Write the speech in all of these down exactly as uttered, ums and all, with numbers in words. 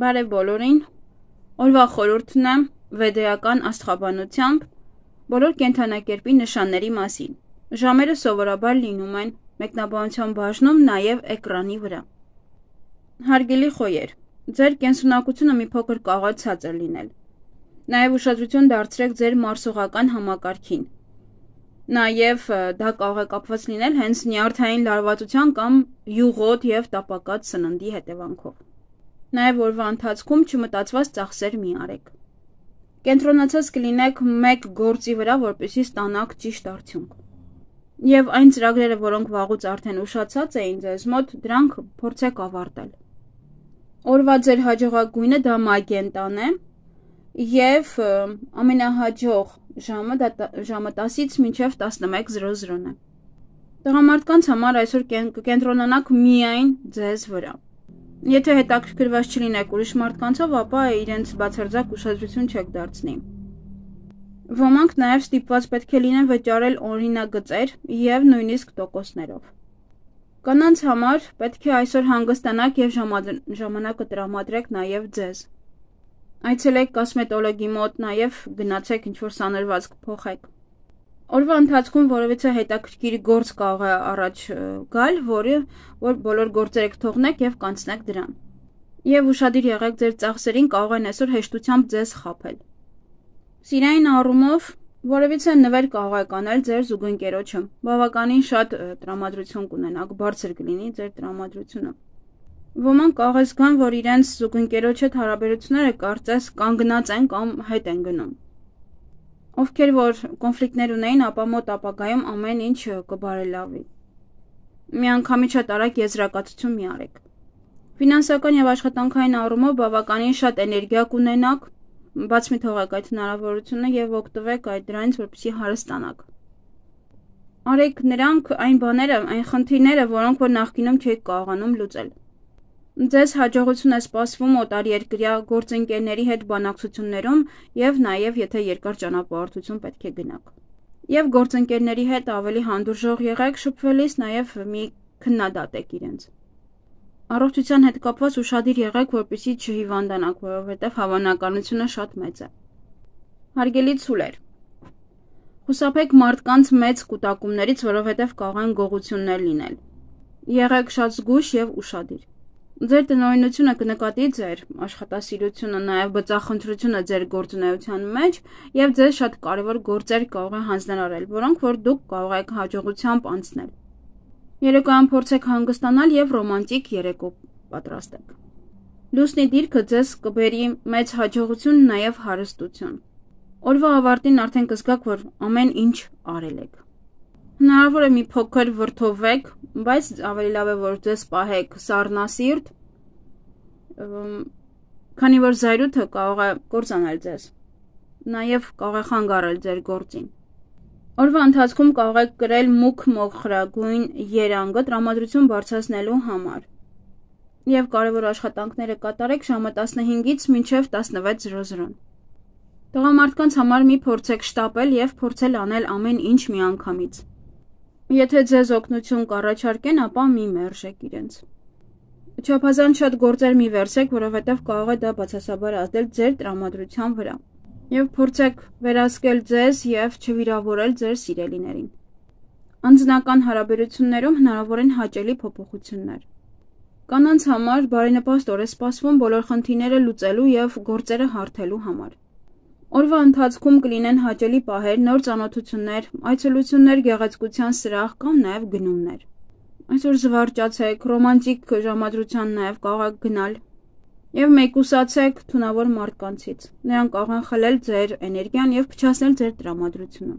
Բարև բոլորին, օրվա խորհուրդն է վեդեական աստղաբանությամբ բոլոր կենդանակերպի նշանների մասին։ Ժամերը սովորաբար լինում են մեկնաբանության բաժնում նաև էկրանի վրա։ Հարգելի խոյեր, ձեր կենսունակությունը մի փոքր կարող է ցածր լինել։ Նաև ուշադրություն դարձրեք ձեր մարսողական համակարգին։ Նաև դա կարող է կապված լինել հենց նյարդային լարվածության կամ յուղոտ և տապակած սննդի հետևանքով։ Նաև օրվա ընթացքում չմտածված ծախսեր մի արեք։ Կենտրոնացած կլինեք մեկ գործի վրա, որպեսզի ստանաք ճիշտ արդյունք։ Եվ այն ծրագրերը, որոնք վաղուց արդեն ուշացած էին ձեզ մոտ, դրանք փորձեք ավարտել։ Օրվա ձեր հաջողագույնը դա մագենտան է և ամենահաջող ժամը դա ժամը տասից մինչև տասնմեկ զրո զրոն է։ Տղամարդկանց համար այսօր կկենտրոնանաք միայն ձեզ վրա։ Եթե հետաքրքրված չլինեք ուրիշ մարդկանցով, ապա իրենց բացարձակ ուշադրություն չեք դարձնի։ Ոմանք նաև ստիպված պետք է լինեն վճարել օրինագծեր և նույնիսկ տոկոսներով։ Կանանց համար պետք է այսօր հանգստանաք և ժամանակը տրամադրեք նաև ձեզ։ Այցելեք կոսմետոլոգի մոտ, նաև գնացեք ինչ-որ սանրվածք փոխեք։ Օրվա ընթացքում որևիցե հետաքրքիր գործ կարող է առաջ գալ, որը որ բոլոր գործերը կթողնեք և կանցնեք դրան։ Եվ ուշադիր եղեք ձեր ծախսերին, կարող են այսօր հեշտությամբ ձեզ խաբել։ Սիրային առումով որևիցե նվեր կարող եք անել ձեր զուգընկերոջը։ Բավականին շատ տրամադրություն կունենաք, բարձր կլինի ձեր տրամադրությունը։ Ոմանք կարող է զգան, որ իրենց զուգընկերոջ հետ հարաբերությունները կարծես կանգնած են կամ հետ են գնում։ Ովքեր որ կոնֆլիկտներ ունեին, ապա մոտ ապագայում ամեն ինչ կբարելավի։ Միանգամից շատ արագ եզրակացություն մի արեք։ Ֆինանսական և աշխատանքային առումով բավականին շատ էներգիա կունենաք, բաց մի թողեք այդ հնարավորությունը և օգտվեք այդ դրանից, որպեսզի հարստանաք։ Արեք նրանք այն բաները, այն խնդիրները, որոնք որ նախկինում չէիք կարողանում լուծել։ Ձեզ հաջողություն է սպասվում օտարերկրյա գործընկերների հետ բանակցություններում և նաև եթե երկար ճանապարհորդություն պետք է գնաք։ Եվ գործընկերների հետ ավելի հանդուրժող եղեք, շփվելիս նաև մի քննադատեք իրենց։ Առողջության հետ կապված ուշադիր եղեք, որպեսզի չհիվանդանաք, որովհետև հավանականությունը շատ մեծ է։ Հարգելի ցուլեր, խուսափեք մարդկանց մեծ կուտակումներից, որովհետև կարող են գողություններ լինել։ Եղեք շատ զգույշ և ուշադիր։ Ձեր տնօրինությունը կնկատի ձեր աշխատասիրությունը, նաև բծախնդրությունը ձեր գործունեության մեջ և ձեզ շատ կարևոր գործեր կարող է հանձնարարել, որոնք որ դուք կարող եք հաջողությամբ անցնել։ Երեկոյան փորձեք հանգստանալ և ռոմանտիկ երեկո պատրաստեք։ Լուսնի դիրքը ձեզ կբերի մեծ հաջողություն, նաև հարստություն։ Օրվա ավարտին արդեն կզգաք, որ ամեն ինչ արել եք։ Հնարավոր է մի փոքր վրդովվեք, բայց ավելի լավ է, որ ձեզ պահեք սառնասիրտ, քանի որ զայրույթը կարող է կործանել ձեզ, նաև կարող է խանգարել ձեր գործին։ Օրվա ընթացքում կարող եք կրել մուգ մոխրագույն երանգը տրամադրություն բարձրացնելու համար և կարևոր աշխատանքները կատարեք ժամը տասնհինգից մինչև տասնվեց զրո զրոն։ Տղամարդկանց համար մի փորձեք շտապել և փորձել անել ամեն ինչ միանգամից։ Եթե ձեզ օգնություն կառաջարկեն, ապա մի մերժեք իրենց։ Չափազանց շատ գործեր մի վերցրեք, որովհետև կարող է դա բացասաբար ազդել ձեր տրամադրության վրա։ Եվ փորձեք վերահսկել ձեզ և չվիրավորել ձեր սիրելիներին։ Անձնական հարաբերություններում հնարավոր են հաճելի փոփոխություններ։ Կանանց համար բարենպաստ օր է սպասվում բոլոր խնդիրները լուծելու և գործերը հարթելու համար։ Օրվա ընթացքում կլինեն հաճելի պահեր, նոր ծանոթություններ, այցելություններ գեղեցկության սրահ կամ նաև գնումներ։ Այսօր զվարճացեք, ռոմանտիկ ժամադրության նաև կարող եք գնալ և մեկուսացեք թունավոր մարդկանցից։ Նրանք կարող են խլել ձեր էներգիան և փչացնել ձեր տրամադրությունը։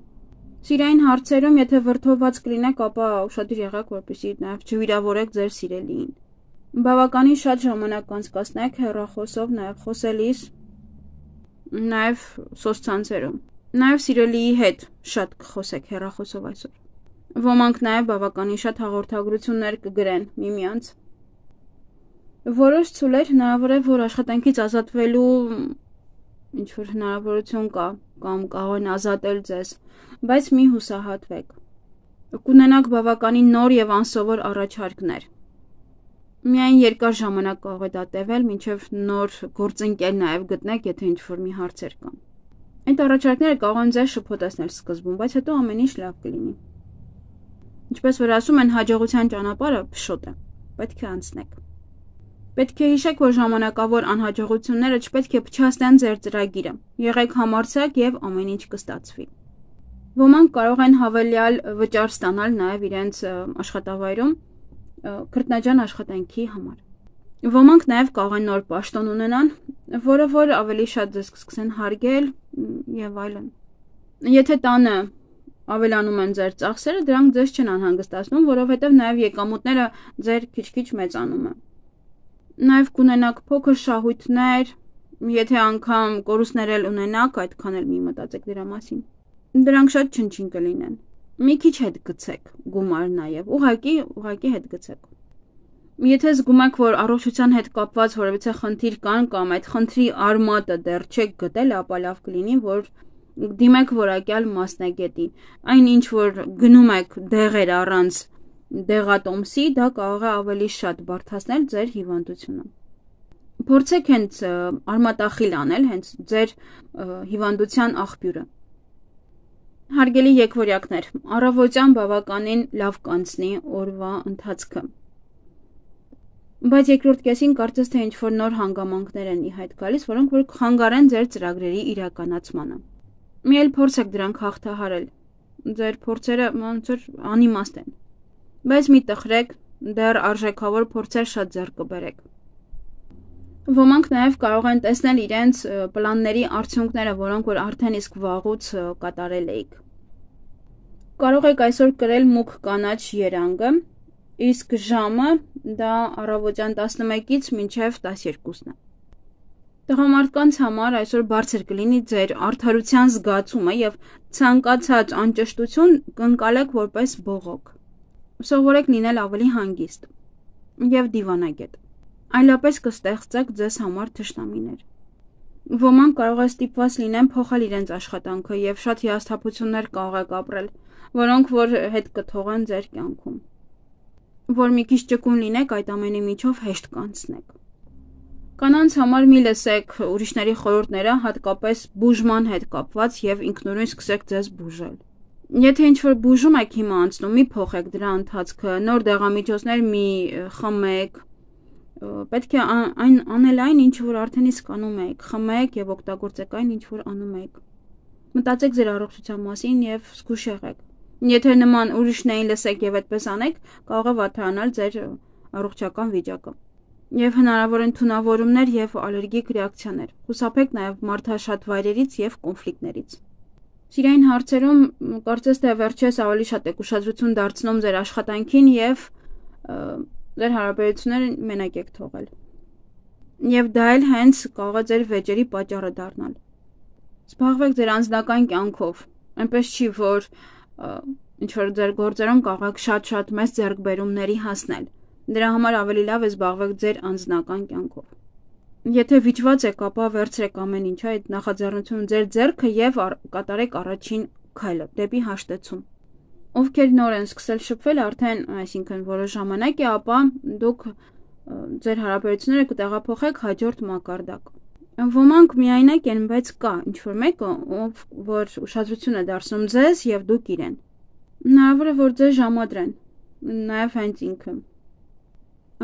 Սիրային հարցերում, եթե վրդովված կլինեք, ապա ուշադիր եղեք, որպեսզի նաև չվիրավորեք ձեր սիրելիին։ Բավականին շատ ժամանակ անցկացնեք հեռախոսով, նաև խոսելիս, նաև սոցցանցերում։ Նաև սիրելիի հետ շատ կխոսեք հեռախոսով այսօր։ Ոմանք նաև բավականին շատ հաղորդագրություններ կգրեն միմյանց։ Որոշ ցուլեր հնարավոր է, որ աշխատանքից ազատվելու ինչ-որ հնարավորություն կա կամ կարող են ազատել ձեզ, բայց մի հուսահատվեք։ Կունենաք բավականին նոր և անսովոր առաջարկներ։ Միայն երկար ժամանակ կարող է դա տևել, մինչև նոր գործընկեր նաև գտնեք, եթե ինչ-որ մի հարցեր կան։ Այդ առաջարկները կարող են ձեզ շփոթեցնել սկզբում, բայց հետո ամեն ինչ լավ կլինի։ Ինչպես որ ասում են, հաջողության ճանապարհը փշոտ է, պետք է անցնեք։ Պետք է հիշեք, որ ժամանակավոր անհաջողությունները չպետք է փչացնեն ձեր ծրագիրը։ Եղեք համարձակ եւ ամեն ինչ կստացվի։ Ոմանք կարող են հավելյալ վճար ստանալ նաև իրենց աշխատավայրում քրտնաջան աշխատանքի համար։ Ոմանք նաև կարող են նոր պաշտոն ունենան, որը որ ավելի շատ ձեզ կսկսեն հարգել եւ այլն։ Եթե տանը ավելանում են ձեր ծախսերը, դրանք ձեզ չեն անհանգստացնում, որովհետեւ նաև եկամուտները ձեր քիչ-քիչ մեծանում են։ Նաև կունենաք փոքր շահույթներ, եթե անգամ կորուստներ էլ ունենաք, այդքան էլ մի մտածեք դրա մասին։ Դրանք շատ չնչին կլինեն։ Մի քիչ հետ գցեք գումար նաև, ուղղակի, ուղղակի հետ գցեք։ Եթե զգում եք, որ առողջության հետ կապված որևիցե խնդիր կան կամ այդ խնդրի արմատը դեռ չեք գտել, ապա լավ կլինի, որ դիմեք որակյալ մասնագետի։ Այն ինչ որ գնում եք դեղեր առանց դեղատոմսի, դա կարող է ավելի շատ բարդացնել ձեր հիվանդությունը։ Փորձեք հենց արմատախիլ անել, հենց ձեր հիվանդության աղբյուրը։ Հարգելի եկվորյակներ, առավոտյան բավականին լավ կանցնի օրվա ընթացքը։ Բայց երկրորդ կեսին կարծես թե ինչ-որ նոր հանգամանքներ են ի հայտ գալիս, որոնք որ խանգարեն ձեր ծրագրերի իրականացմանը։ Մի էլ փորձեք դրանք հաղթահարել։ Ձեր փորձերը ոնց որ անիմաստ են։ Բայց մի տխրեք, դեռ արժեքավոր փորձեր շատ ձեռք կբերեք։ Ոմանք նաև կարող են տեսնել իրենց պլանների արդյունքները, որոնք որ արդեն իսկ վաղուց կատարել էիք։ Կարող եք այսօր կրել մուգ կանաչ երանգը, իսկ ժամը դա առավոտյան տասնմեկից մինչև տասներկուսն է։ Տղամարդկանց համար այսօր բարձր կլինի ձեր արդարության զգացումը եւ ցանկացած անճշտություն կընկալեք որպես բողոք։ Սովորեք լինել ավելի հանգիստ եւ դիվանագետ։ Այլապես կստեղծեք ձեզ համար թշնամիներ։ Ոմանք կարող է ստիպված լինեն փոխել իրենց աշխատանքը եւ շատ հիասթափություններ կարող եք ապրել, որոնք որ հետ կթողեն ձեր կյանքում։ Որ մի քիչ ճկուն լինեք, այդ ամենի միջով հեշտ կանցնեք։ Կանանց համար մի լսեք ուրիշների խորհուրդները, հատկապես բուժման հետ կապված եւ ինքնուրույն սկսեք ձեզ բուժել։ Եթե ինչ-որ բուժում եք հիմա անցնում, մի փոխեք դրա ընթացքը, նոր դեղամիջոցներ մի խմեք, պետք է այն անել այն, ինչ որ արդեն իսկ անում եք, խմեք եւ օգտագործեք այն, ինչ որ անում եք։ Մտածեք ձեր առողջության մասին եւ զգուշ եղեք։ Եթե նման ուրիշներին լսեք եւ այդպես անեք, կարող է վատանալ ձեր առողջական վիճակը։ Եվ հնարավոր են թունավորումներ եւ ալերգիկ ռեակցիաներ։ Խուսափեք նաեւ մարդաշատ վայրերից եւ կոնֆլիկտներից։ Սիրային հարցերում կարծես թե վերջերս ավելի շատ եք ուշադրություն դարձնում ձեր աշխատանքին եւ ձեր հարաբերությունները մենակ եք թողել։ Եվ դա էլ հենց կարող է ձեր վեճերի պատճառը դառնալ։ Զբաղվեք ձեր անձնական կյանքով։ Այնպես չի, որ ինչ որ ձեր գործերում կարող եք շատ-շատ մեծ ձեռքբերումների հասնել։ Դրա համար ավելի լավ է զբաղվեք ձեր անձնական կյանքով։ Եթե վիճված եք, ապա վերցրեք ամեն ինչ, այդ նախաձեռնությունը ձեր ձեռքը եւ կատարեք առաջին քայլը դեպի հաշտեցում։ Ովքեր նոր են սկսել շփվել, արդեն, այսինքն որոշ ժամանակ է, ապա դուք ձեր հարաբերությունները կտեղափոխեք հաջորդ մակարդակ։ Ոմանք միայնակ են, բայց կա ինչ-որ մեկը, ով որ ուշադրություն է դարձնում ձեզ եւ դուք իրեն։ Հնարավոր է, որ ձեզ ժամադրեն, նաեւ հենց ինքը։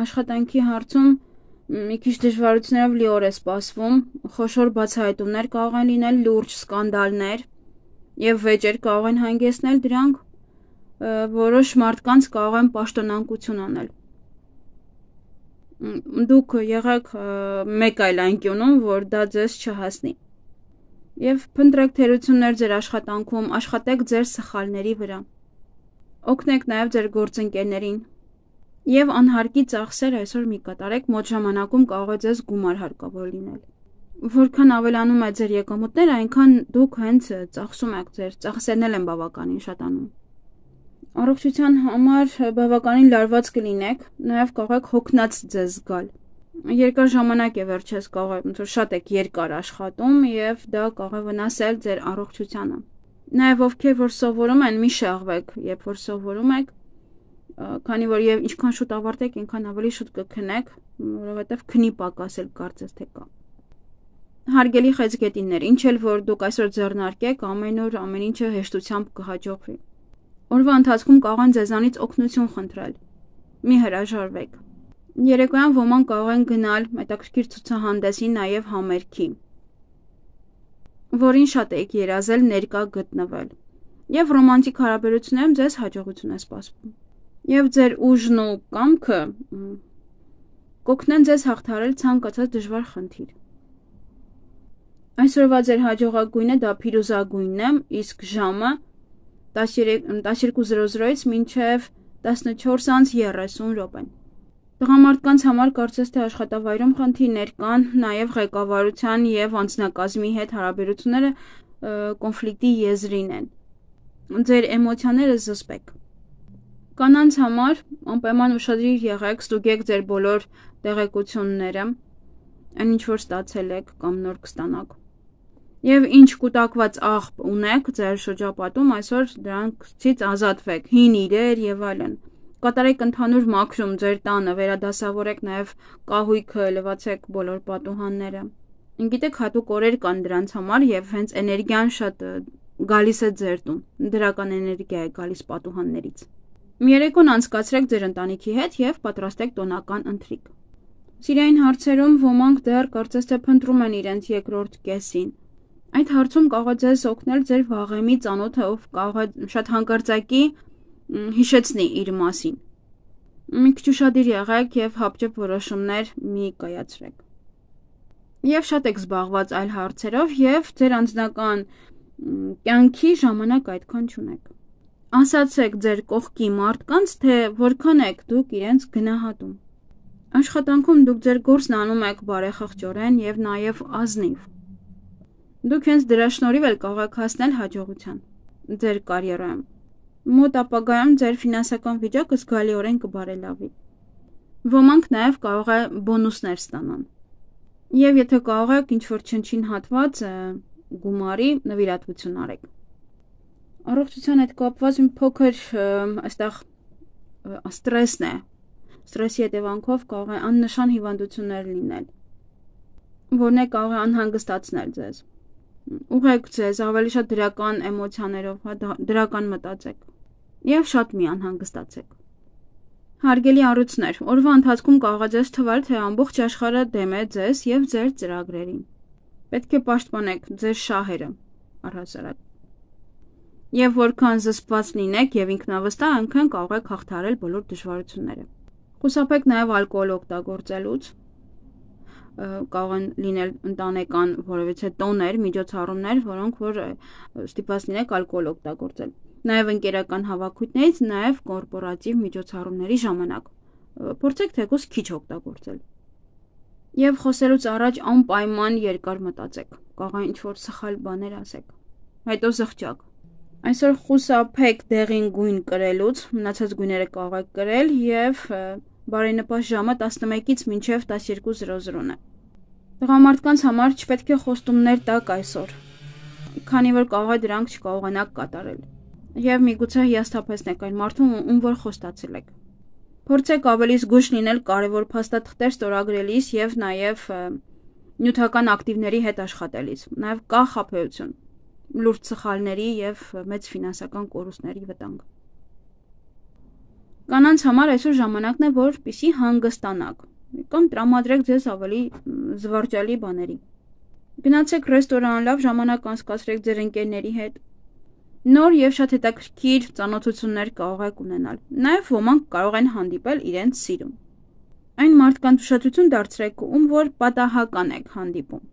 Աշխատանքի հարցում մի քիչ դժվարություններով լիոր է սպասվում, խոշոր բացահայտումներ կարող են լինել, լուրջ սկանդալներ եւ վեճեր կարող են հանգեցնել դրանք, որոշ մարդկանց կարող են պաշտոնանկություն անել։ Դուք եղեք մեկ այլ անկյունում, որ դա ձեզ չհասնի։ Եվ փնտրեք թերություններ ձեր աշխատանքում, աշխատեք ձեր սխալների վրա։ Օգնեք նաեւ ձեր գործընկերներին։ Եվ անհարկի ծախսեր այսօր մի կատարեք, մոտ ժամանակում կարող է ձեզ գումար հարկավոր լինել։ Որքան ավելանում է ձեր եկամուտները, այնքան դուք հենց ծախսում եք, ձեր ծախսերն են բավականին շատանում։ Առողջության համար բավականին լարված կլինեք, նաև կարող եք հոգնած ձեզ զգալ։ Երկար ժամանակ է վերջերս կարող է, ոնց որ շատ եք երկար աշխատում եւ դա կարող է վնասել ձեր առողջությանը։ Նաև ովքեր որ սովորում են, մի շեղվեք, երբ որ սովորում եք, Քանի որ եւ ինչքան շուտ ավարտեք, այնքան ավելի շուտ կքնեք, որովհետեւ քնի պակաս էլ կարծես թե կա։ Հարգելի խեցգետիններ, ինչ էլ որ դուք այսօր ձեռնարկեք, ամեն օր ամեն ինչը հեշտությամբ կհաջողվի։ Օրվա ընթացքում կարող են ձեզանից օգնություն խնդրել։ Մի հրաժարվեք։ Երեկոյան ոմանք կարող են գնալ հետաքրքիր ցուցահանդեսի, նաև համերգի, որին շատ եք երազել ներկա գտնվել։ Եվ ռոմանտիկ հարաբերություններում ձեզ հաջողություն է սպասվում։ Եվ ձեր ուժն ու կամքը կօգնեն ձեզ հաղթահարել ցանկացած դժվար խնդիր։ Այսօրվա ձեր հաջողագույնը դա փիրուզագույնն է, իսկ ժամը տասներկու զրո զրոից մինչև տասնչորս անց երեսուն րոպե։ Տղամարդկանց համար կարծես թե աշխատավայրում խնդիրներ կան, նաև ղեկավարության եւ անձնակազմի հետ հարաբերությունները կոնֆլիկտի եզրին են։ Ձեր էմոցիաները զսպեք։ Կանանց համար անպայման ուշադիր եղեք, ստուգեք ձեր բոլոր տեղեկությունները, այն ինչ որ ստացել եք կամ նոր կստանաք։ Եվ ինչ կուտակված աղբ ունեք ձեր շրջապատում, այսօր դրանցից ազատվեք, հին իրեր եւ այլն։ Կատարեք ընդհանուր մաքրում ձեր տանը, վերադասավորեք նաև կահույքը, լվացեք բոլոր պատուհանները։ Գիտեք, հատուկ օրեր կան դրանց համար եւ հենց էներգիան շատ գալիս է ձեր տուն։ Դրական էներգիա է գալիս պատուհաններից։ Մի երեկոն անցկացրեք ձեր ընտանիքի հետ եւ պատրաստեք տոնական ընթրիք։ Սիրային հարցերում ոմանք դեռ կարծես թե փնտրում են իրենց երկրորդ կեսին։ Այդ հարցում կարող է ձեզ օգնել ձեր վաղեմի ծանոթը, ով կարող է շատ հանկարծակի հիշեցնի իր մասին։ Մի քիչ ուշադիր եղեք եւ հապճեպ որոշումներ մի կայացրեք։ Եվ շատ եք զբաղված այլ հարցերով եւ ձեր անձնական կյանքի ժամանակ այդքան չունեք։ Ասացեք ձեր կողքի մարդկանց, թե որքան եք դուք իրենց գնահատում։ Աշխատանքում դուք ձեր գործն անում եք բարեխղճորեն եւ նաեւ ազնիվ։ Դուք հենց դրա շնորհիվ էլ կարող եք հասնել հաջողության ձեր կարիերայում։ Մոտ ապագայում ձեր ֆինանսական վիճակը զգալիորեն կբարելավի։ Ոմանք նաև կարող է բոնուսներ ստանան։ Եվ եթե կարող եք ինչ-որ չնչին հատված գումարի նվիրատվություն արեք։ Առողջության հետ կապված մի փոքր այստեղ ստրեսն է։ Ստրեսի հետևանքով կարող է աննշան հիվանդություններ լինել, որն է կարող է անհանգստացնել ձեզ։ Ուղղեք ձեզ ավելի շատ դրական էմոցիաներով, դրական մտածեք եւ շատ մի անհանգստացեք։ Հարգելի առույցներ, օրվա ընթացքում կարող է ձեզ թվալ, թե ամբողջ աշխարհը դեմ է ձեզ եւ ձեր ծրագրերին։ Պետք է պաշտպանեք ձեր շահերը առհասարակ։ Եվ որքան զսպված լինեք եւ ինքնավստահ, այնքան կարող եք հաղթահարել բոլոր դժվարությունները։ Խուսափեք նաեւ ալկոհոլ օգտագործելուց։ Կարող են լինել ընտանեկան որևիցե տոներ, միջոցառումներ, որոնք որ ստիպված լինեք ալկոհոլ օգտագործել։ Նաև ընկերական հավաքույթներից, նաև կորպորատիվ միջոցառումների ժամանակ։ Փորձեք թեկուզ քիչ օգտագործել։ Եվ խոսելուց առաջ անպայման երկար մտածեք։ Կարող է ինչ-որ սխալ բաներ ասեք։ Հետո զղջակ։ Այսօր խուսափեք դեղին գույն կրելուց, մնացած գույները կարող եք կրել եւ բարենպաստ ժամը տասնմեկից մինչև տասներկու զրո զրոն է։ Տղամարդկանց համար չպետք է խոստումներ տաք այսօր, քանի որ կարող է դրանք չկարողանաք կատարել։ Եվ միգուցե հիասթափեցնեք այն մարդուն, ում որ խոստացել եք։ Փորձեք ավելի զգույշ լինել կարևոր փաստաթղթեր ստորագրելիս եւ նաեւ նյութական ակտիվների հետ աշխատելիս։ Նաեւ կա խաբեություն, լուրջ սխալների եւ մեծ ֆինանսական կորուստների վտանգ։ Կանանց համար այսօր ժամանակն է, որպեսզի հանգստանաք կամ տրամադրեք ձեզ ավելի զվարճալի բաների։ Գնացեք ռեստորան, լավ ժամանակ անցկացրեք ձեր ընկերների հետ։ Նոր եւ շատ հետաքրքիր ծանոթություններ կարող եք ունենալ։ Նաեւ ոմանք կարող են հանդիպել իրենց սիրուն։ Այն մարդկանց ուշադրություն դարձրեք, ում որ պատահական եք հանդիպում։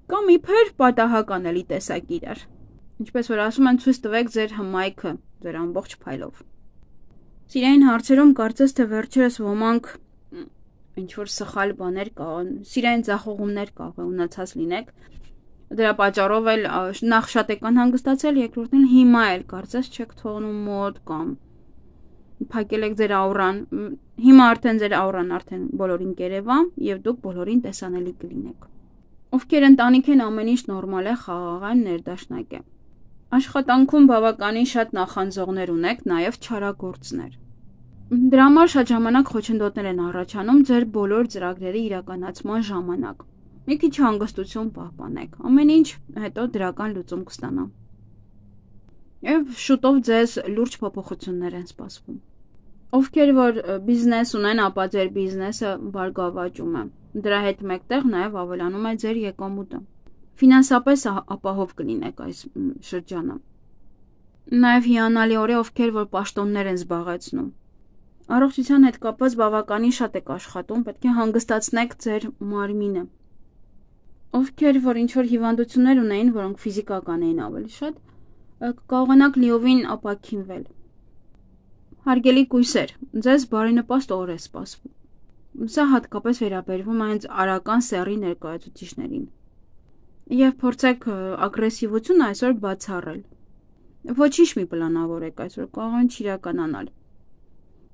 Կամ իբր պատահական էլի տեսակ իրար։ Ինչպես որ ասում են, ցույց տվեք ձեր հմայքը, ձեր ամբողջ փայլով։ Սիրային հարցերում կարծես թե վերջերս ոմանք ինչ-որ սխալ բաներ կան, սիրային ձախողումներ կարող է ունեցած լինեք։ Դրա պատճառով էլ նախ շատ եք անհանգստացել, երկրորդն էլ հիմա էլ կարծես չեք թողնում մոտ կամ փակել եք ձեր աուրան։ Հիմա արդեն ձեր աուրան արդեն բոլորին կերևա եւ դուք բոլորին տեսանելի կլինեք։ Ովքեր ընտանիք են, ամեն ինչ նորմալ է, խաղաղան, ներդաշնակ է։ Աշխատանքում բավականին շատ նախանձողներ ունեք, նաև չարագործներ։ Դրա համար շատ ժամանակ խոչընդոտներ են առաջանում ձեր բոլոր ծրագրերի իրականացման ժամանակ։ Մի քիչ հանգստություն պահպանեք, ամեն ինչ հետո դրական լուծում կստանա։ Եվ շուտով ձեզ լուրջ փոփոխություններ են սպասվում։ Ովքեր որ բիզնես ունեն, ապա ձեր բիզնեսը բարգավաճում է։ Դրա հետ մեկտեղ նաև ավելանում է ձեր եկամուտը։ Ֆինանսապես ապահով կլինեք այս շրջանը։ Նաև հիանալիորեն ովքեր որ պաշտոններ են զբաղեցնում։ Առողջության հետ կապված բավականին շատ եք աշխատում, պետք է հանգստացնեք ձեր մարմինը։ Ովքեր որ ինչ-որ հիվանդություններ ունեին, որոնք ֆիզիկական էին ավելի շատ, կկարողանաք լիովին ապաքինվել։ Հարգելի կույսեր, ձեզ բարենպաստ օր է սպասվում։ Սա հատկապես վերաբերվում է հենց արական սեռի ներկայացուցիչներին։ Եվ փորձեք ագրեսիվությունը այսօր բացառել։ Ոչինչ մի պլանավորեք այսօր, կարող են չիրականանալ։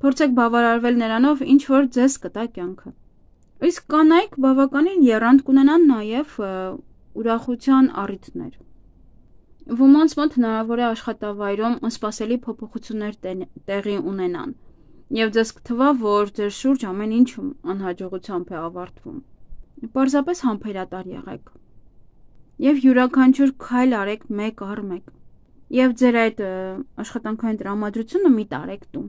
Փորձեք բավարարվել նրանով, ինչ որ ձեզ կտա կյանքը։ Իսկ կանայք բավականին եռանդ կունենան նաև ուրախության առիթներ։ Ոմանց մոտ հնարավոր է աշխատավայրում անսպասելի փոփոխություններ տեղի ունենան, եւ ձեզ կթվա, որ ձեր շուրջ ամեն ինչ անհաջողությամբ է ավարտվում։ Պարզապես համբերատար եղեք եւ յուրաքանչյուր քայլ արեք մեկ առ մեկ։ Եվ ձեր այդ աշխատանքային տրամադրությունը մի տարեք տուն։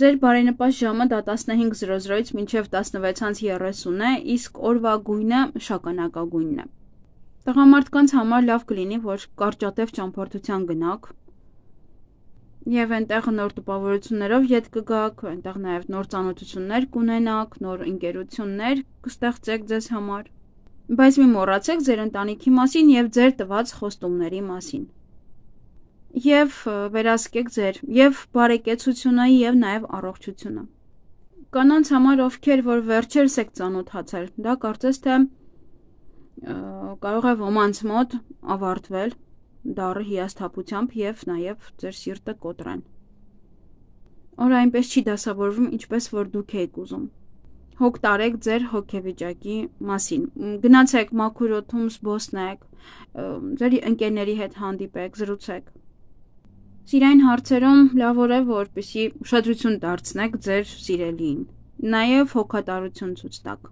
Ձեր բարենպաստ ժամը դա տասնհինգ զրո զրոից մինչև տասնվեց երեսուն է, իսկ օրվա գույնը շագանակագույնն է։ Տղամարդկանց համար լավ կլինի, որ կարճատև ճամփորդության գնաք եւ այնտեղ նոր տպավորություններով ետ կգաք, այնտեղ նաեւ նոր ծանոթություններ կունենաք, նոր ընկերություններ կստեղծեք ձեզ համար։ Բայց մի մոռացեք ձեր ընտանիքի մասին եւ ձեր տված խոստումների մասին։ Եվ վերահսկեք ձեր եւ բարեկեցությունը եւ նաեւ առողջությունը։ Կանանց համար ովքեր որ վերջերս եք ծանոթացել, դա կարծես թե կարող է ոմանց մոտ ավարտվել դառը հիասթափությամբ եւ նաեւ ձեր սիրտը կոտրեն։ Օրը այնպես չի դասավորվում, ինչպես որ դուք եք ուզում։ Հոգ տարեք ձեր հոգեվիճակի մասին։ Գնացեք մաքուր օդում զբոսնեք, ձեր ընկերների հետ հանդիպեք, զրուցեք։ Սիրային հարցերում լավ է, որպեսզի ուշադրություն դարձնեք ձեր սիրելիին, նաև հոգատարություն ցույց տաք։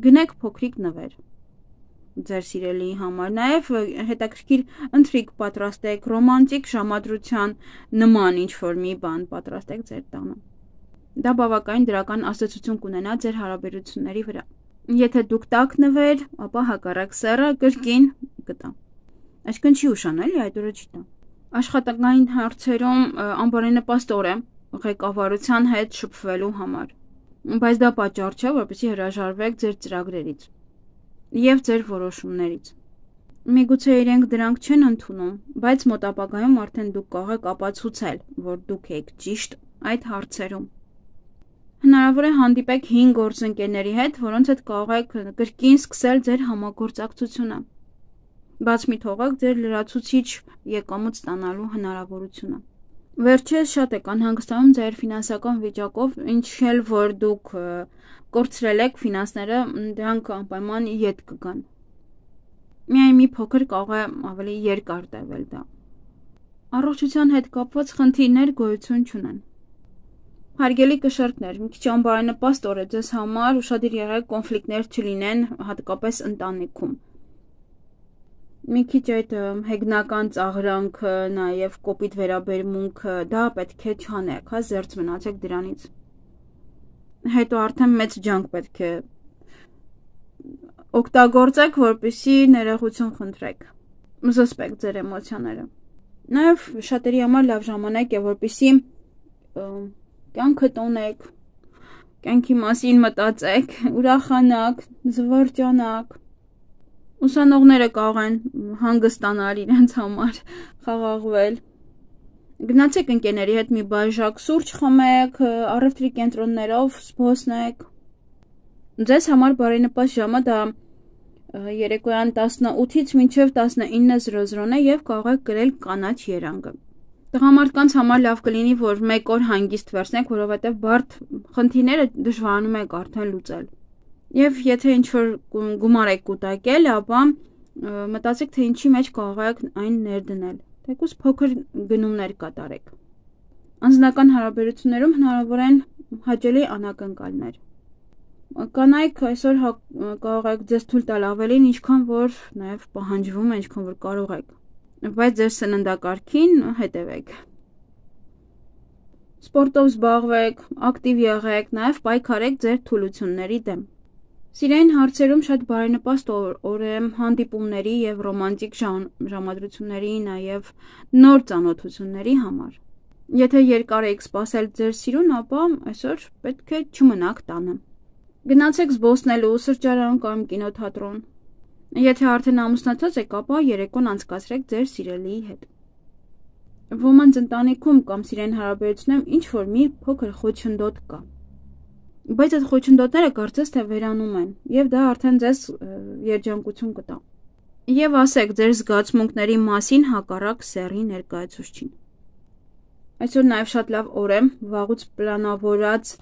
Գնեք փոքրիկ նվեր ձեր սիրելիի համար, նաև հետաքրքիր ընթրիք պատրաստեք, ռոմանտիկ ժամադրության նման ինչ-որ մի բան պատրաստեք ձեր տանը։ Դա բավականին դրական ազդեցություն կունենա ձեր հարաբերությունների վրա։ Եթե դուք տաք նվեր, ապա հակառակ սեռը կրկին կտա։ Այսինքն չի ուշանալի, այդ օրը չի տա։ Աշխատանքային հարցերում անբարենպաստ օր է ղեկավարության հետ շփվելու համար, բայց դա պատճառ չէ, որպեսզի հրաժարվեք ձեր ծրագրերից եւ ձեր որոշումներից։ Միգուցե իրենք դրանք չեն ընդունում, բայց մոտ ապագայում արդեն դուք կարող եք ապացուցել, որ դուք եք ճիշտ այդ հարցերում։ Հնարավոր է հանդիպեք հինգ գործընկերների հետ, որոնց հետ կարող եք կրկին սկսել ձեր համագործակցությունը։ Բաց մի թողեք ձեր լրացուցիչ եկամուտ ստանալու հնարավորությունը։ Վերջերս շատ եք անհանգստանում ձեր ֆինանսական վիճակով, ինչ էլ որ դուք կորցրել եք ֆինանսները, դրանք անպայման ետ կգան։ Միայն մի փոքր կարող է ավելի երկար տևել դա։ Առողջության հետ կապված խնդիրներ գոյություն չունեն։ Հարգելի կշեռքներ, մի քիչ անբարենպաստ օր է ձեզ համար, ուշադիր եղեք կոնֆլիկտներ չլինեն, հատկապես ընտանիքում։ Մի քիչ այդ հեգնական ծաղրանքը, նաև կոպիտ վերաբերմունքը, դա պետք է չանեք, հա, զերծ մնացեք դրանից։ Հետո արդեն մեծ ջանք պետք է օգտագործեք, որպեսզի ներողություն խնդրեք, զսպեք ձեր էմոցիաները։ Նաև շատերի համար լավ ժամանակ է, որպեսզի կյանքը տոնեք, կյանքի մասին մտածեք, ուրախանաք, զվարճանաք։ Ուսանողները կարող են հանգստանալ իրենց համար, խաղաղվել։ Գնացեք ընկերների հետ մի բաժակ սուրճ խմեք, առևտրի կենտրոններով զբոսնեք։ Ձեզ համար բարենպաստ ժամը դա երեկոյան տասնութից մինչև տասնինը զրո զրոն է եւ կարող եք գրել կանաչ երանգը։ Տղամարդկանց համար լավ կլինի, որ մեկ օր հանգիստ վերցնեք, որովհետեւ բարդ խնդիրները դժվարանում է արդեն լուծել։ Եվ եթե ինչ-որ գումար եք կուտակել, ապա մտածեք, թե ինչի մեջ կարող եք այն ներդնել, թեկուզ փոքր գնումներ կատարեք։ Անձնական հարաբերություններում հնարավոր են հաճելի անակնկալներ։ Կանայք այսօր կարող եք ձեզ թույլ տալ ավելին, ինչքան որ նաև պահանջվում է, ինչքան որ կարող եք, բայց ձեր սննդակարգին հետևեք։ Սպորտով զբաղվեք, ակտիվ եղեք, նաև պայքարեք ձեր թուլությունների դեմ։ Սիրային հարցերում շատ բարենպաստ օր է հանդիպումների և ռոմանտիկ ժամադրությունների, նաև նոր ծանոթությունների համար։ Եթե երկար եք սպասել ձեր սիրուն, ապա այսօր պետք է չմնաք տանը։ Գնացեք զբոսնելու, սրճարան կամ կինոթատրոն։ Եթե արդեն ամուսնացած եք, ապա երեկոն անցկացրեք ձեր սիրելիի հետ։ Ոմանց ընտանիքում կամ սիրային հարաբերություններում ինչ-որ մի փոքր խոչընդոտ կա։ Բայց այդ խոչընդոտները կարծես թե վերանում են, և դա արդեն ձեզ երջանկություն կտա։ Եվ ասեք ձեր զգացմունքների մասին հակառակ սեռի ներկայացուցչին։ Այսօր նաև շատ լավ օր է վաղուց պլանավորած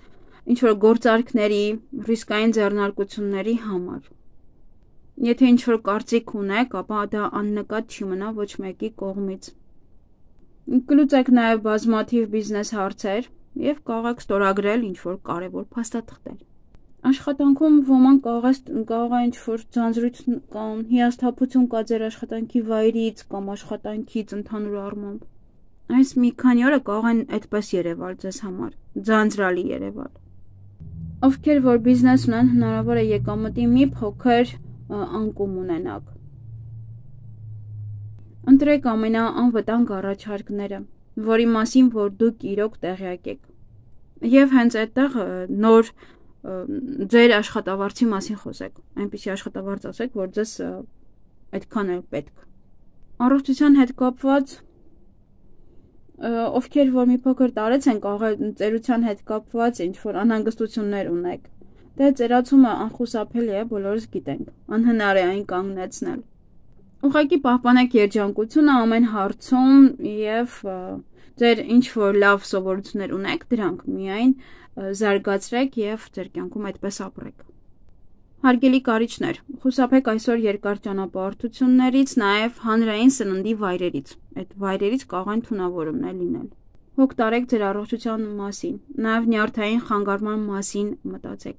ինչ-որ գործարքների, ռիսկային ձեռնարկությունների համար։ Եթե ինչ-որ կարծիք ունեք, ապա դա աննկատ չի մնա ոչ մեկի կողմից։ Կլուծեք նաև բազմաթիվ բիզնես հարցեր և կարող եք ստորագրել ինչ-որ կարևոր փաստաթղթեր։ Աշխատանքում ոմանք կարող է ինչ-որ ձանձրույթ կամ հիասթափություն կա ձեր աշխատանքի վայրից կամ աշխատանքից ընդհանուր առմամբ։ Այս մի քանի օրը կարող են այդպես երևալ ձեզ համար, ձանձրալի երևալ։ Ովքեր որ բիզնես ունեն, հնարավոր է եկամտի մի փոքր անկում ունենաք։ Ընտրեք ամենաանվտանգ առաջարկները, որի մասին որ դուք իրոք տեղյակ եք։ Եվ հենց այդտեղ նոր ձեր աշխատավարձի մասին խոսեք, այնպիսի աշխատավարձ ասեք, որ ձեզ այդքան էլ պետք։ Առողջության հետ կապված, ովքեր որ մի փոքր տարեց են, կարող է ծերության հետ կապված ինչ-որ անհանգստություններ ունեք։ Դե ծերացումը անխուսափելի է, բոլորս գիտենք, անհնար է այն կանգնեցնել։ Ուղղակի պահպանեք երջանկությունը ամեն հարցում և ձեր ինչ-որ լավ սովորություններ ունեք, դրանք միայն զարգացրեք և ձեր կյանքում այդպես ապրեք։ Հարգելի կարիճներ, խուսափեք այսօր երկար ճանապարհորդություններից, նաև հանրային սննդի վայրերից։ Այդ վայրերից կարող են թունավորումներ լինել։ Հոգ տարեք ձեր առողջության մասին, նաև նյարդային խանգարման մասին մտածեք։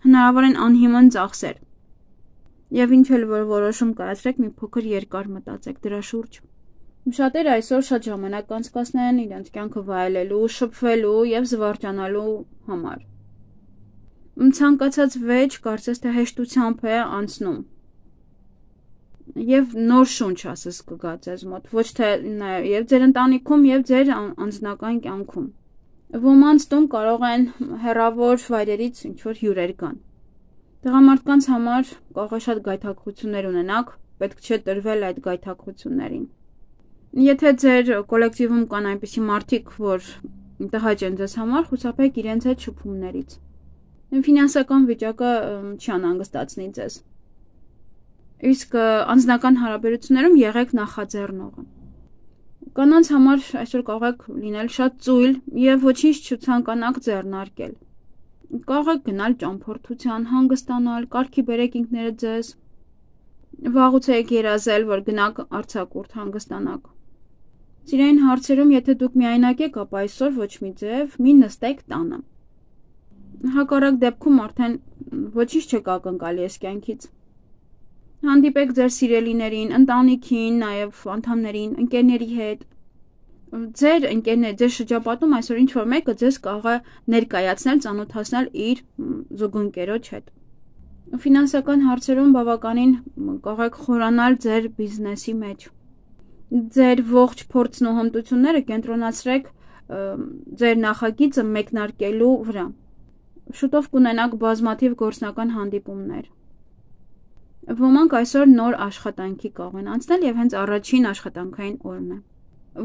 Հնարավոր են անհիմն ծախսեր։ Եվ ինչ էլ որ որոշում կայացրեք, մի փոքր երկար մտածեք դրա շուրջ։ Շատերը այսօր շատ ժամանակ անցկացնեն իրենց կյանքը վայելելու, շփվելու և զվարճանալու համար։ Ցանկացած վեճ կարծես թե հեշտությամբ է անցնում։ Եվ նոր շունչ ասես կգա ձեզ մոտ, ոչ թե և ձեր ընտանիքում, և ձեր անձնական կյանքում։ Ոմանց տուն կարող են հեռավոր վայրերից ինչ-որ հյուրեր գան։ Տղամարդկանց համար կարող է շատ գայթակղություններ ունենաք, պետք չէ տրվել այդ գայթակղություններին։ Եթե ձեր կոլեկտիվում կան այնպիսի մարդիկ, որ տհաճ են ձեզ համար, խուսափեք իրենց հետ շփումներից։ Ֆինանսական վիճակը չի անհանգստացնի ձեզ։ Իսկ անձնական հարաբերություններում եղեք նախաձեռնողը։ Կանանց համար այսօր կարող եք լինել շատ ծույլ և ոչինչ չցանկանաք ձեռնարկել։ Կարող եք գնալ ճամփորդության, հանգստանալ, կարգի բերեք ինքներդ ձեզ։ Վաղուց եք երազել, որ գնաք արձակուրդ հանգստանաք։ Սիրային հարցերում, եթե դուք միայնակ եք, ապա այսօր ոչ մի ձև մի նստեք տանը։ Հակառակ դեպքում արդեն ոչինչ չեք ակնկալի այս կյանքից։ Հանդիպեք ձեր սիրելիներին, ընտանիքին, նաև անդամներին, ընկերների հետ։ Ձեր ընկերներ, ձեր շրջապատում այսօր ինչ-որ մեկը ձեզ կարող է ներկայացնել, ծանոթացնել իր զուգընկերոջ հետ։ Ֆինանսական հարցերում բավականին կարող եք խորանալ ձեր բիզնեսի մեջ։ Ձեր ողջ փորձն ու հմտությունները կենտրոնացրեք ձեր նախագիծը մեկնարկելու վրա։ Շուտով կունենաք բազմաթիվ գործնական հանդիպումներ։ Ոմանք այսօր նոր աշխատանքի կարող են անցնել և հենց առաջին աշխատանքային օրն է։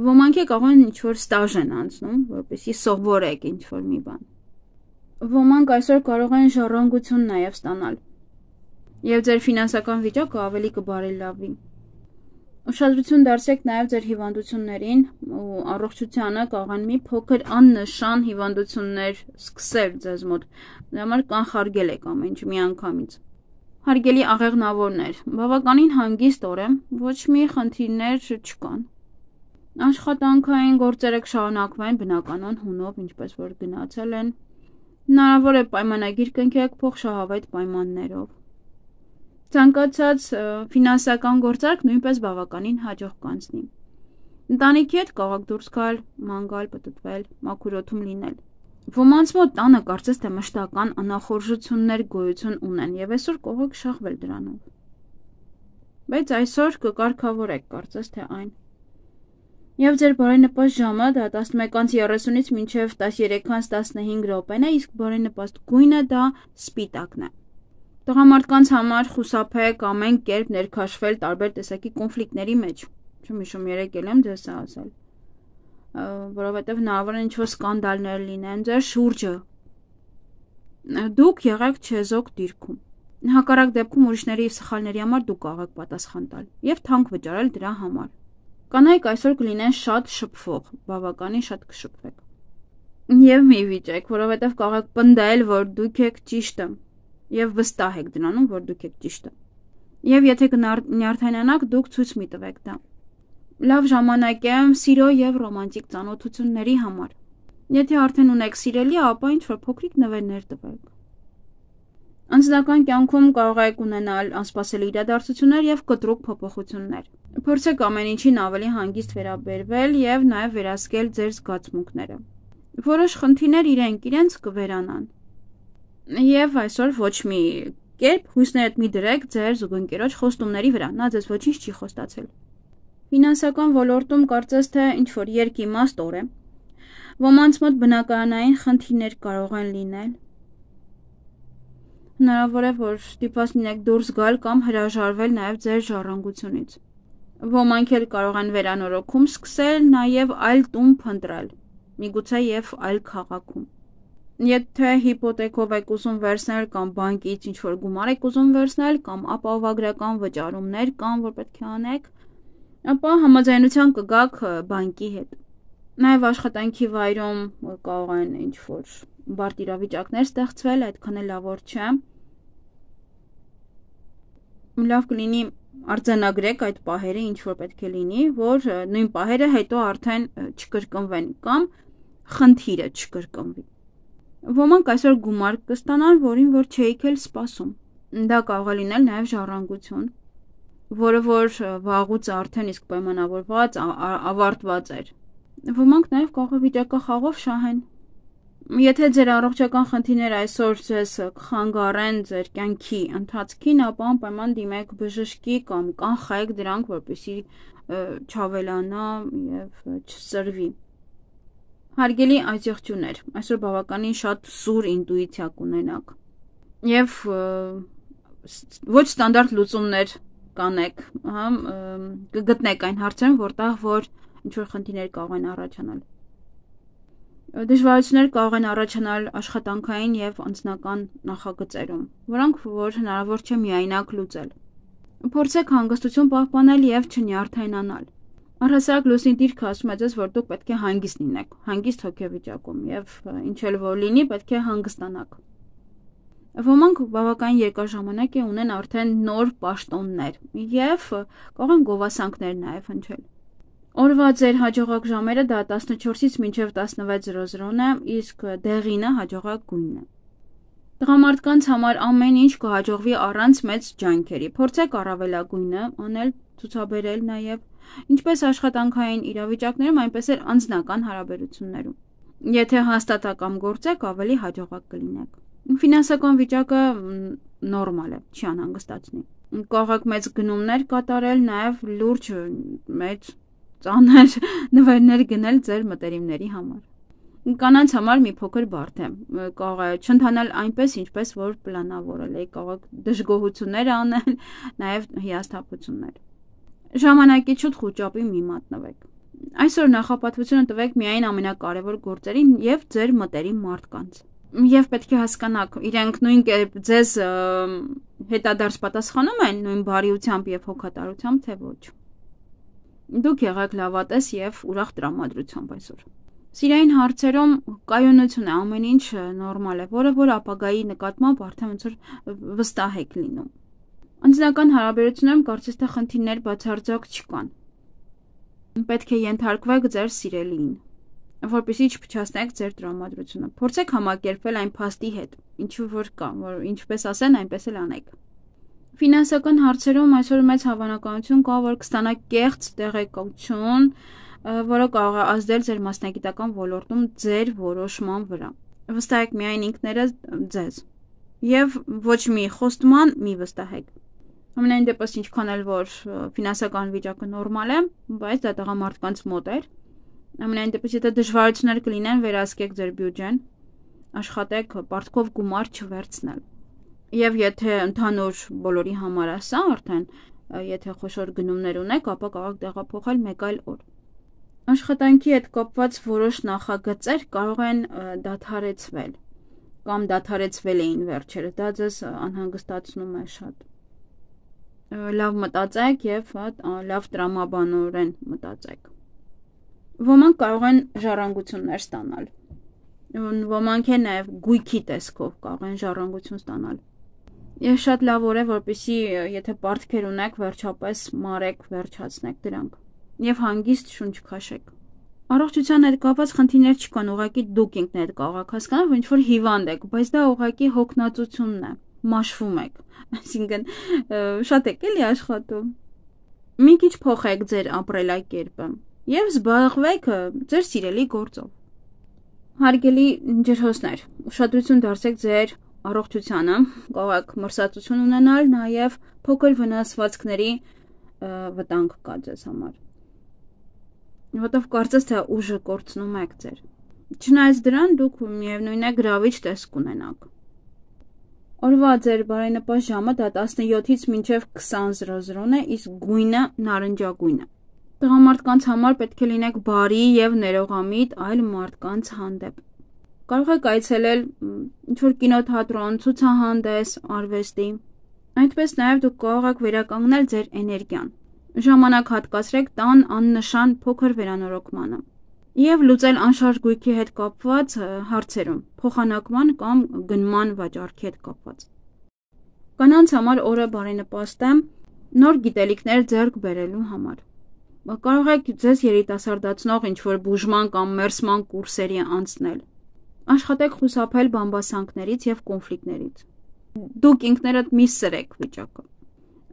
Ոմանք է կարող են ինչ-որ ստաժ են անցնում, որպեսզի սովորեք ինչ-որ մի բան։ Ոմանք այսօր կարող են ժառանգություն նաև ստանալ։ Եվ ձեր ֆինանսական վիճակը ավելի կբարելավի։ Ուշադրություն դարձրեք նաև ձեր հիվանդություններին ու առողջությանը, կարող են մի փոքր աննշան հիվանդություններ սկսել ձեզ մոտ, դրա համար կանխարգել եք ամեն ինչ միանգամից։ Հարգելի աղեղնավորներ, բավականին հանգիստ օր է, ոչ մի խնդիրներ չկան։ Աշխատանքային գործերը կշարունակվեն բնականon հունով, ինչպես որ գնացել են։ Հնարավոր է պայմանագիր կնքեք փոխշահավետ պայմաններով։ Ցանկացած ֆինանսական գործարք նույնպես բավականին հաջող կանցնի։ Ընտանիքի հետ կարող դուրս գալ, ման գալ, պտտվել, մաքուր օդում լինել։ Ոմանց մոտ տանը կարծես թե մշտական անախորժություններ գոյություն ունեն եւ այսօր կարող եք շահվել դրանով։ Բայց այսօր կկարգավորեք կարծես թե այն։ Եվ ձեր բարենպաստ ժամը դա տասնմեկից երեսունից մինչև տասներեքից տասնհինգ րոպեն է, իսկ բարենպաստ գույնը դա սպիտակն է։ Տղամարդկանց համար խուսափեք ամեն կերպ ներքաշվել տարբեր տեսակի կոնֆլիկտների մեջ։ Չեմ հիշում երեք էլ եմ ձեզ ասել։ Որովհետև հնարավոր է ինչ-որ սկանդալներ լինեն ձեր շուրջը։ Դուք եղեք չեզոք դիրքում։ Հակառակ դեպքում ուրիշների սխալների համար դուք կարող եք պատասխան տալ եւ թանկ վճարել դրա համար։ Կանայք այսօր կլինեն շատ շփվող, բավականին շատ կշփվեք։ Եվ մի վիճեք, որովհետև կարող եք պնդել, որ դուք եք ճիշտը, եւ վստահ եք դրանում, որ դուք եք ճիշտը։ Եվ եթե կնյարդայնանաք, դուք ցույց մի տվեք դա։ Լավ ժամանակ է սիրո եւ ռոմանտիկ ծանոթությունների համար։ Եթե արդեն ունեք սիրելի, ապա ինչ որ փոքրիկ նվերներ տվեք։ Անձնական կյանքում կարող եք ունենալ անսպասելի իրադարձություններ եւ կտրուկ փոփոխություններ։ Փորձեք ամեն ինչին ավելի հանգիստ վերաբերվել եւ նաեւ վերահսկել ձեր զգացմունքները։ Որոշ խնդիրներ իրենք իրենց կվերանան։ Եվ այսօր ոչ մի կերպ հույսներդ մի դրեք ձեր զուգընկերոջ խոստումների վրա, նա ձեզ ոչինչ չի խոստացել։ Ֆինանսական ոլորտում կարծես թե ինչ որ երկիմաստ օր է։ Ոմանց մոտ բնականային խնդիրներ կարող են լինել։ Հնարավոր է, որ ստիպված լինեք դուրս գալ կամ հրաժարվել նաև ձեր ժառանգությունից։ Ոմանք էլ կարող են վերանորոգում սկսել, նաև այլ տուն փնտրել, միգուցե եւ այլ քաղաքում։ Եթե հիպոթեկով եք ուզում վերցնել կամ բանկից ինչ-որ գումար եք ուզում վերցնել կամ ապահովագրական վճարումներ կան, որ պետք է անեք, ապա համաձայնության կգաք բանկի հետ։ Նաև աշխատանքի վայրում կարող են ինչ-որ բարդ իրավիճակներ ստեղծվել, այդքան էլ լավ չէ։ Լավ կլինի արձանագրեք այդ պահերը, ինչ որ պետք է լինի, որ նույն պահերը հետո արդեն չկրկնվեն կամ խնդիրը չկրկնվի։ Ոմանք այսօր գումար կստանան, որին որ չէիք էլ սպասում։ Դա կարող է լինել նաև ժառանգություն, որը որ վաղուց արդեն իսկ պայմանավորված, ավարտված էր։ Ոմանք նաև կարող է վիճակախաղով շահեն։ Եթե ձեր առողջական խնդիրները այսօր ձեզ կխանգարեն ձեր կյանքի ընթացքին, ապա անպայման դիմեք բժշկի կամ կանխեք դրանք, որպեսզի չավելանա եւ չսրվի։ Հարգելի այցեղջուներ, այսօր բավականին շատ սուր ինտուիցիա կունենաք եւ ոչ ստանդարտ լուծումներ կանեք, հա, կգտնեք այն հարցերում, որտեղ որ ինչ որ խնդիրներ կարող են առաջանալ։ Դժվարություններ կարող են առաջանալ աշխատանքային եւ անձնական նախագծերում, որոնք որ հնարավոր չէ միայնակ լուծել։ Փորձեք հանգստություն պահպանել եւ չնյարդայնանալ։ Առհասարակ լուսնի դիրքը ասում է ձեզ, որ դուք պետք է հանգիստ լինեք, հանգիստ հոգեվիճակում եւ ինչ էլ որ լինի, պետք է հանգստանաք։ Ոմանք բավական երկար ժամանակ է ունեն արդեն նոր պաշտոններ եւ կարող են գովասանքներ նաեւ հնչել։ Օրվա ձեր հաջողակ ժամերը դա տասնչորսից մինչև տասնվեց զրոզրոն է, իսկ դեղինը հաջողակ գույնն է։ Տղամարդկանց համար ամեն ինչ կհաջողվի առանց մեծ ջանքերի։ Փորձեք առավելագույնը անել, ցուցաբերել նաև, ինչպես աշխատանքային իրավիճակներում, այնպես էլ անձնական հարաբերություններում։ Եթե հաստատակամ գործեք, ավելի հաջողակ կլինեք։ Ֆինանսական վիճակը նորմալ է, չի անհանգստացնի։ Կարող եք մեծ գնումներ կատարել, նաև լուրջ մեծ ծանր նվերներ գնել ձեր մտերիմների համար։ Կանանց համար մի փոքր բարդ է, կարող է չընթանալ այնպես, ինչպես որ պլանավորել եք, կարող եք դժգոհություններ անել, նաև հիասթափություններ։ Ժամանակի շուտ խոճապի մի մատնվեք։ Այսօր նախապատվությունը տվեք միայն ամենակարևոր գործերին եւ ձեր մտերիմ մարդկանց։ Եվ պետք է հասկանաք, իրենք նույն կերպ ձեզ հետադարձ պատասխանում են նույն բարիությամբ եւ հոգատարությամբ, թե ոչ։ Դուք եղեք լավատես եւ ուրախ տրամադրությամբ այսօր։ Սիրային հարցերում կայունություն է, ամեն ինչ նորմալ է, որը որ ապագայի նկատմամբ արդեն ոնց որ վստահ եք լինում։ Անձնական հարաբերություններում կարծես թե խնդիրներ բացարձակ չկան։ պետք է ենթարկվեք ձեր սիրելիին, որպեսզի չփչացնեք ձեր տրամադրությունը։ Փորձեք համակերպվել այն փաստի հետ, ինչու որ կա, որ ինչպես ասեն, այնպես էլ անեք։ Ֆինանսական հարցերում այսօր մեծ հավանականություն կա, որ կստանաք կեղծ տեղեկություն, որը կարող է ազդել ձեր մասնագիտական ոլորտում ձեր որոշման վրա։ Վստահեք միայն ինքներդ ձեզ եւ ոչ մի խոստման մի վստահեք։ Ամենայն դեպս ինչքան էլ որ ֆինանսական վիճակը նորմալ է, բայց դա տղամարդկանց մոտ է։ Ամենայն դեպս եթե դժվարություններ կլինեն, վերահսկեք ձեր բյուջեն, աշխատեք պարտքով գումար չվերցնել։ Եվ եթե ընդհանուր բոլորի համար է սա արդեն, եթե խոշոր գնումներ ունեք, ապա կարող տեղափոխել մեկ այլ օր։ Աշխատանքի հետ կապված որոշ նախագծեր կարող են դադարեցվել կամ դադարեցվել էին վերջերս, դա ձեզ անհանգստացնում է շատ։ Լավ մտածեք եւ լավ տրամաբանորեն մտածեք։ Ոմանք կարող են ժառանգություններ ստանալ։ Ոմանք են նաեւ գույքի տեսքով կարող են ժառանգություն ստանալ։ Եվ շատ լավ օր է, որպեսզի եթե պարտքեր ունեք, վերջապես մարեք, վերջացնեք դրանք եւ հանգիստ շունչ քաշեք։ Առողջության հետ կապված խնդիրներ չկան, ուղղակի դուք ինքներդ կարող եք հասկանալ, որ ինչ որ հիվանդ եք, բայց դա ուղղակի հոգնածությունն է, մաշվում եք, այսինքն շատ եք էլի աշխատում։ Մի քիչ փոխեք ձեր ապրելակերպը եւ զբաղվեք ձեր սիրելի գործով։ Հարգելի ջրհոսներ, ուշադրություն դարձրեք ձեր առողջությանը, կարող եք մրսածություն ունենալ, նաեւ փոքր վնասվածքների վտանգ կա ձեզ համար։ Որտով կարծես թե ուժը կորցնում եք ձեր։ Չնայած դրան դուք միևնույն է գրավիչ տեսք ունենաք։ Օրվա ձեր բարենպաստ ժամը դա տասնյոթից մինչև քսան զրոզրոն է, իսկ գույնը նարնջագույն է։ Տղամարդկանց համար պետք է լինեք բարի եւ ներողամիտ այլ մարդկանց հանդեպ։ Կարող եք այցելել ինչ-որ կինոթատրոն, ցուցահանդես, արվեստի։ Այդպես նաեւ դուք կարող եք վերականգնել ձեր էներգիան։ Ժամանակ հատկացրեք տան աննշան փոքր վերանորոգմանը եւ լուծել անշարժ գույքի հետ կապված հարցերում, փոխանակման կամ գնման վաճառքի հետ կապված։ Կանանց համար օրը բարենպաստ է նոր գիտելիքներ ձեռք բերելու համար։ Կարող եք ձեզ երիտասարդացնող ինչ-որ բուժման կամ մերսման կուրսերի անցնել։ Աշխատեք խուսափել բամբասանքներից եւ կոնֆլիկտներից։ Դուք ինքներդ մի սրեք վիճակը։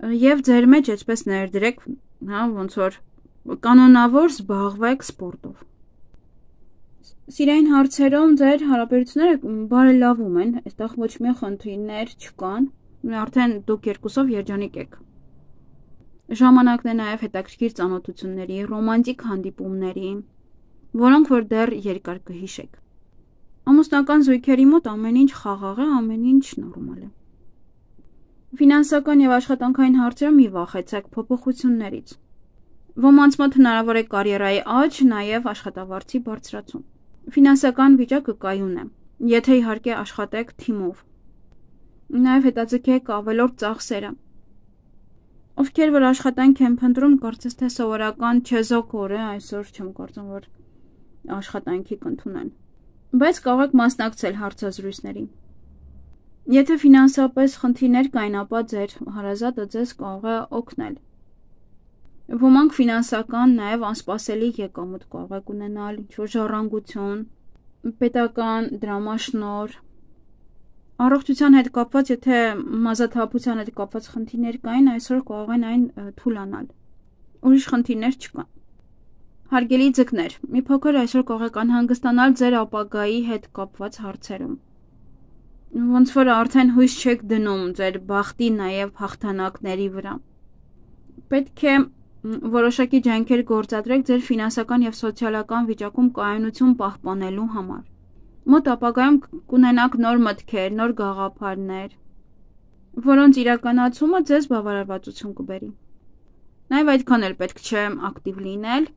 Եվ ձեր մեջ այսպես ներդրեք, հա, ոնց որ կանոնավոր զբաղվեք սպորտով։ Սիրային հարցերում ձեր հարաբերությունները բարելավում են, այստեղ ոչ մի խնդիրներ չկան, արդեն դուք երկուսով երջանիկ եք։ Ժամանակն է նաև հետաքրքիր ծանոթությունների, ռոմանտիկ հանդիպումների, որոնք որ դեռ երկար կհիշեք։ Ամուսնական զույգերի մոտ ամեն ինչ խաղաղ է, ամեն ինչ նորմալ է։ Ֆինանսական եւ աշխատանքային հարցերում մի վախեցեք փոփոխություններից։ Ոմանց մոտ հնարավոր է կարիերայի աճ, նաեւ աշխատավարձի բարձրացում։ Ֆինանսական վիճակը կայուն է, եթե իհարկե աշխատեք թիմով։ Նաեւ հետաձգեք ավելորդ ծախսերը։ Ովքեր որ աշխատանք են փնտրում, կարծես թե սովորական չեզոք օր է, այսօր չեմ կարծում որ աշխատանքի կընդունեն։ Բայց կարող եք մասնակցել հարցազրույցներին։ Եթե ֆինանսապես խնդիրներ կային, ապա ձեր հարազատը ձեզ կարող է օգնել։ Ոմանք ֆինանսական նաև անսպասելի եկամուտ կարող եք ունենալ, ինչ-որ ժառանգություն, պետական դրամաշնոր։ Առողջության հետ կապված, եթե մազաթափության հետ կապված խնդիրներ կային, այսօր կարող են այն թուլանալ։ Ուրիշ խնդիրներ չկան։ Հարգելի ձկներ, մի փոքր այսօր կարող եք անհանգստանալ ձեր ապագայի հետ կապված հարցերում։ Ոնց որ արդեն հույս չեք դնում ձեր բախտի նաև հաղթանակների վրա։ Պետք է որոշակի ջանքեր գործադրեք ձեր ֆինանսական եւ սոցիալական վիճակում կայունություն պահպանելու համար։ Մոտ ապագայում կունենաք նոր մտքեր, նոր գաղափարներ, որոնց իրականացումը ձեզ բավարարվածություն կբերի։ Նաև այդքան էլ պետք չէ ակտիվ լինել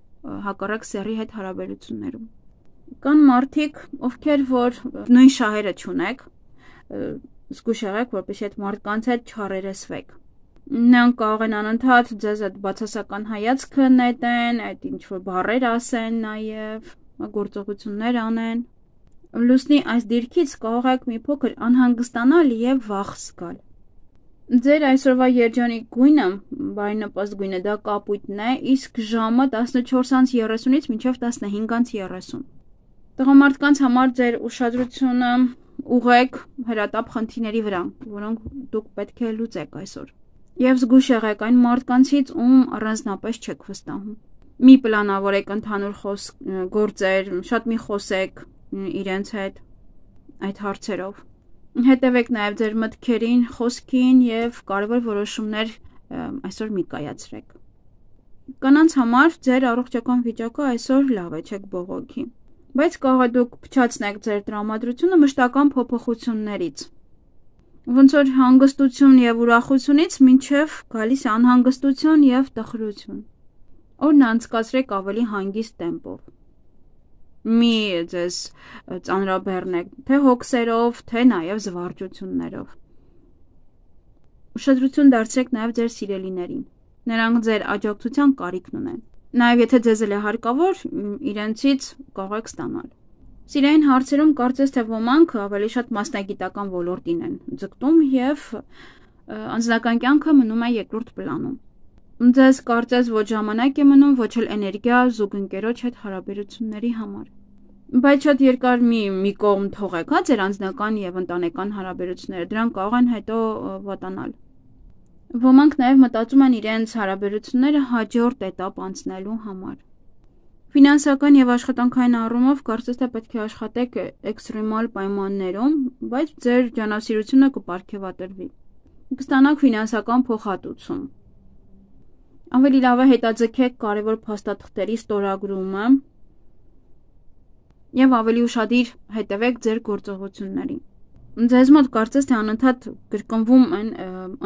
հակառակ սեռի հետ հարաբերություններում։ Կան մարդիկ, ովքեր որ նույն շահերը չունեք, զգույշ եղեք, որպեսզի այդ մարդկանց հետ չհարերեսվեք։ Նրանք կարող են անընդհատ ձեզ այդ բացասական հայացքը նետեն, այդ ինչ որ բառեր ասեն նաև, գործողություններ անեն։ Լուսնի այս դիրքից կարող եք մի փոքր անհանգստանալ եւ վախ զգալ։ Ձեր այսօրվա երջանիկ գույնը, բարենպաստ գույնը, դա կապույտն է, իսկ ժամը տասնչորս անց երեսունից մինչև տասնհինգ անց երեսուն։ Տղամարդկանց համար ձեր ուշադրությունը ուղղեք հրատապ խնդիրների վրա, որոնք դուք պետք է լուծեք այսօր։ Եվ զգույշ եղեք այն մարդկանցից, ում առանձնապես չեք վստահում։ Մի պլանավորեք ընդհանուր խոսք գործեր, շատ մի խոսեք իրենց հետ այդ հարցերով։ Հետևեք նաև ձեր մտքերին, խոսքին եւ կարևոր որոշումներ այսօր մի կայացրեք։ Կանանց համար ձեր առողջական վիճակը այսօր լավ է, չեք բողոքի, բայց կարող է դուք փչացնեք ձեր տրամադրությունը մշտական փոփոխություններից։ Ոնց որ հանգստություն եւ ուրախությունից մինչեւ գալիս անհանգստություն եւ տխրություն։ Օրն անցկացրեք ավելի հանգիստ տեմպով։ Մի ձեզ ծանրաբեռնեք, թե հոգսերով, թե նաև զվարճություններով։ Ուշադրություն դարձրեք նաև ձեր սիրելիներին։ Նրանք ձեր աջակցության կարիքն ունեն։ Նաև եթե ձեզ էլ է հարկավոր, իրենցից կարող եք ստանալ։ Սիրային հարցերում կարծես թե ոմանք ավելի շատ մասնագիտական ոլորտին են ձգտում եւ անձնական կյանքը մնում է երկրորդ պլանում։ Ձեզ կարծես ոչ ժամանակ է մնում, ոչ էլ էներգիա զուգընկերոջ հետ հարաբերությունների համար։ Բայց շատ երկար մի մի կողմ թողեք, հա, ձեր անձնական եւ ընտանեկան հարաբերությունները, դրանք կարող են հետո վատանալ։ Ոմանք նաեւ մտածում են իրենց հարաբերությունները հաջորդ էտապ անցնելու համար։ Ֆինանսական եւ աշխատանքային առումով կարծես թե պետք է աշխատեք էքստրեմալ պայմաններում, բայց ձեր ջանասիրությունը կպարգևատրվի։ Կստանաք ֆինանսական փոխհատուցում։ Ավելի լավ է հետաձգեք կարևոր փաստաթղթերի ստորագրումը եւ ավելի ուշադիր հետևեք ձեր գործողություններին։ Ձեզ մոտ կարծես թե անընդհատ կրկնվում են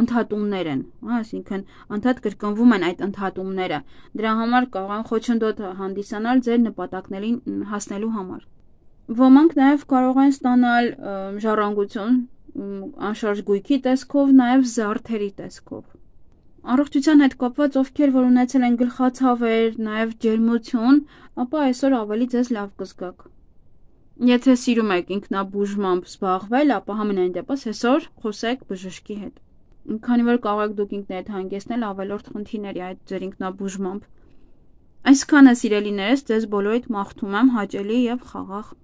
ընդհատումներ են, հա, այսինքն անդադ կրկնվում են այդ ընդհատումները։ Դրա համար կարող են խոչընդոտ հանդիսանալ ձեր նպատակներին հասնելու համար։ Ոմանք նաեւ կարող են ստանալ ժառանգություն անշարժ գույքի տեսքով, նաեւ զարդերի տեսքով։ Առողջության հետ կապված ովքեր որ ունեցել են գլխացավեր, նաև ջերմություն, ապա այսօր ավելի ձեզ լավ կզգաք։ Եթե սիրում եք ինքնաբուժմամբ զբաղվել, ապա համենայն դեպս այսօր խոսեք բժշկի հետ։ Քանի որ կարող եք դուք ինքներդ հանգեցնել ավելորդ խնդիրների այդ ձեր ինքնաբուժմամբ։ Այսքանը սիրելիներս, ձեզ բոլորիդ մաղթում եմ հաճելի եւ խաղաղ